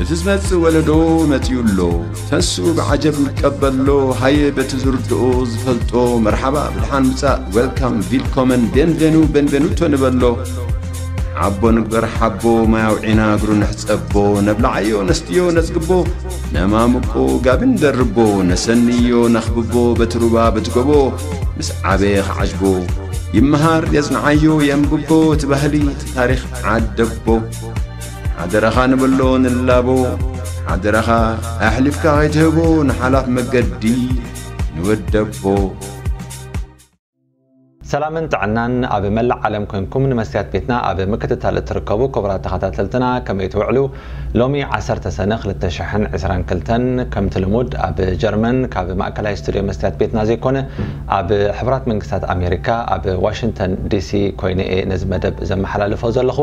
እቲ ዝመጽእ ወለዶ መጺኡ ኣሎ። ተንስኡ ብዓጀብ ንቀበሎ። ሃየ በቲ ዝርድኦ ዝፈልጦ መርሓባ ብድሓን ምጻእ፣ ዌልካም፣ ቪልኮመን፣ ቤንቬኑ፣ ቤንቬኑቶ ንበሎ። ሓቦ ንግበር ሓቦ፣ ማይ ኣውዒና እግሩ ንሕጸቦ። ነብልዓዮ ነስትዮ ነጽግቦ፣ ነማምቆ ጋቢ ንደርቦ። ነሰንዮ ነኽብቦ በቲ ሩባ በቲ ጎቦ፣ ምስ ዓበየ ክዓጅቦ። ይመሃር የጽንዓዮ የንብቦ፣ እቲ ባህሊ እቲ ታሪኽ ዓደቦ። ሓደራኻ ንበሎ ንላቦ፣ ሓደራኻ ኣሕሊፍካ ከይትህቦ ንሓላፍ መገዲ ንወደቦ። ሰላምን ጥዕናን ኣብ መላእ ዓለም ኮንኩም ንመስትያት ቤትና ኣብ ምክትታል እትርከቡ ክቡራት ተኸታተልትና ከመይ ትውዕሉ? ሎሚ ዓሰርተ ሰነ ክልተ ሽሕን ዕስራን ክልተን ከምቲ ልሙድ ኣብ ጀርመን ካብ ማእከላይ ስቱድዮ መስትያት ቤትና ዘይኮነ ኣብ ሕቡራት መንግስታት ኣሜሪካ ኣብ ዋሽንግተን ዲሲ ኮይነ እየ ነዚ መደብ ዘመሓላልፎ ዘለኹ።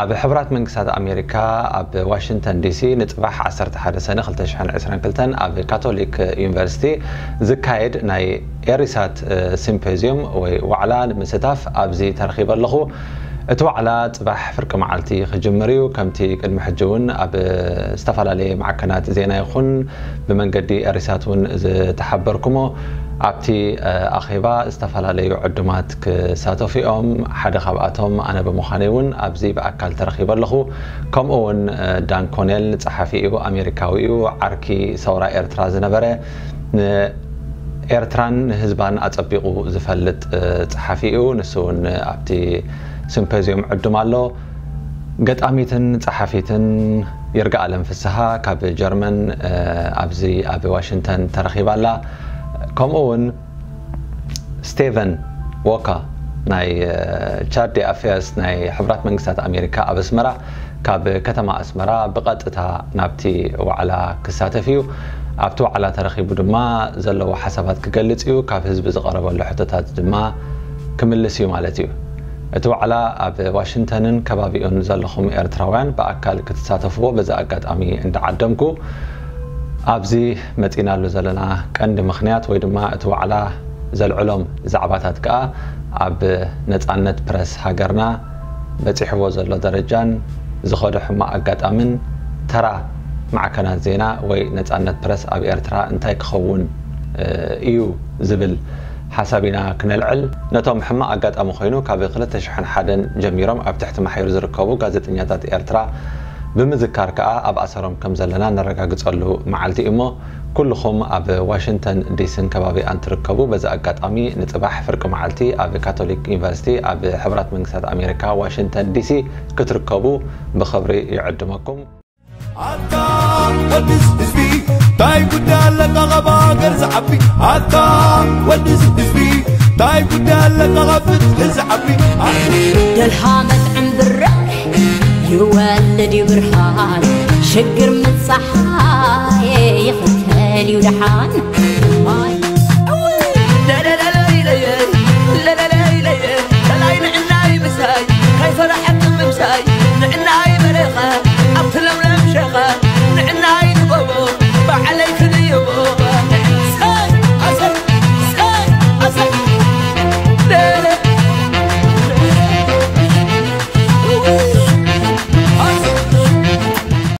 ኣብ ሕቡራት መንግስታት ኣሜሪካ ኣብ ዋሽንግተን ዲሲ ንጽባሕ ዓሰርተ ሓደ ሰነ ክልተ ሽሕን ዕስራን ክልተን ኣብ ካቶሊክ ዩኒቨርሲቲ ዝካየድ ናይ ኤሪሳት ሲምፖዚየም ወይ ዋዕላ ንምስታፍ ኣብዚ ተረኺበ ኣለኹ። እቲ ዋዕላ ጽባሕ ፍርቂ መዓልቲ ክጅምር እዩ። ከምቲ ቅድሚ ሕጂ እውን ኣብ ዝተፈላለየ ማዕከናት ዜና ይኹን ብመንገዲ ኤሪሳት እውን ዝተሓበርኩሞ፣ ኣብቲ ኣኼባ ዝተፈላለዩ ዕዱማት ክሳተፉ እዮም። ሓደ ካብኣቶም ኣነ ብምዃነይ እውን ኣብዚ ብኣካል ተረኺበ ኣለኹ። ከምኡ እውን ዳን ኮኔል ጸሓፊ እዩ፣ ኣሜሪካዊ እዩ፣ ዓርኪ ሰውራ ኤርትራ ዝነበረ፣ ንኤርትራን ንህዝባን ኣጸቢቑ ዝፈልጥ ጸሓፊ እዩ። ንሱ እውን ኣብቲ ሲምፖዚየም ዕዱም ኣሎ። ገጣሚትን ጸሓፊትን ይርጋኣለም ፍስሃ ካብ ጀርመን ኣብዚ ኣብ ዋሽንግተን ተረኺባ ኣላ። ከምኡ እውን ስቴቨን ዎካ ናይ ቻርዲ ኣፌርስ ናይ ሕቡራት መንግስታት ኣሜሪካ ኣብ ኣስመራ ካብ ከተማ ኣስመራ ብቐጥታ ናብቲ ዋዕላ ክሳተፍ እዩ። ኣብቲ ዋዕላ ተረኺቡ ድማ ዘለዎ ሓሳባት ክገልጽ እዩ። ካብ ህዝቢ ዝቐረበሉ ሕቶታት ድማ ክምልስ እዩ ማለት እዩ። እቲ ዋዕላ ኣብ ዋሽንግተንን ከባቢኡን ዘለኹም ኤርትራውያን ብኣካል ክትሳተፍዎ በዚ ኣጋጣሚ እንዳዓደምኩ፣ ኣብዚ መጺናሉ ዘለና ቀንዲ ምኽንያት ወይ ድማ እቲ ዋዕላ ዘልዕሎም ዛዕባታት ከኣ ኣብ ነጻነት ፕረስ ሃገርና በጺሕዎ ዘሎ ደረጃን ዝኸዶ ሕማቕ ኣጋጣምን ተራ ማዕከናት ዜና ወይ ነጻነት ፕረስ ኣብ ኤርትራ እንታይ ክኸውን እዩ ዝብል ሓሳብ ኢና ክነልዕል። ነቶም ሕማቕ ኣጋጣሚ ኮይኑ ካብ ክልተ ሽሕን ሓደን ጀሚሮም ኣብ ትሕቲ ማሕዩር ዝርከቡ ጋዜጠኛታት ኤርትራ ብምዝካር ከኣ ኣብ ኣሰሮም ከም ዘለና ነረጋግጸሉ መዓልቲ እዩ እሞ፣ ኩልኹም ኣብ ዋሽንግተን ዲሲን ከባቢኣን ትርከቡ፣ በዚ ኣጋጣሚ ንጽባሕ ፍርቂ መዓልቲ ኣብ ካቶሊክ ዩኒቨርሲቲ ኣብ ሕቡራት መንግስታት ኣሜሪካ ዋሽንግተን ዲሲ ክትርከቡ ብኽብሪ ይዕድመኩም። ኣታ ወድስ ህዝቢ፣ ታይ ጉዳይ ኣለካ ካብ ሃገር ዝዓቢ? ኣታ ወድስ ህዝቢ፣ ታይ ጉዳይ ኣለካ ካብ ፍትሒ ዝዓቢ? ደልሃመት ዕምብረ ይወልድ እዩ ብርሃን፣ ሽግር ምጻሓይ ይኽተል እዩ ደሓን።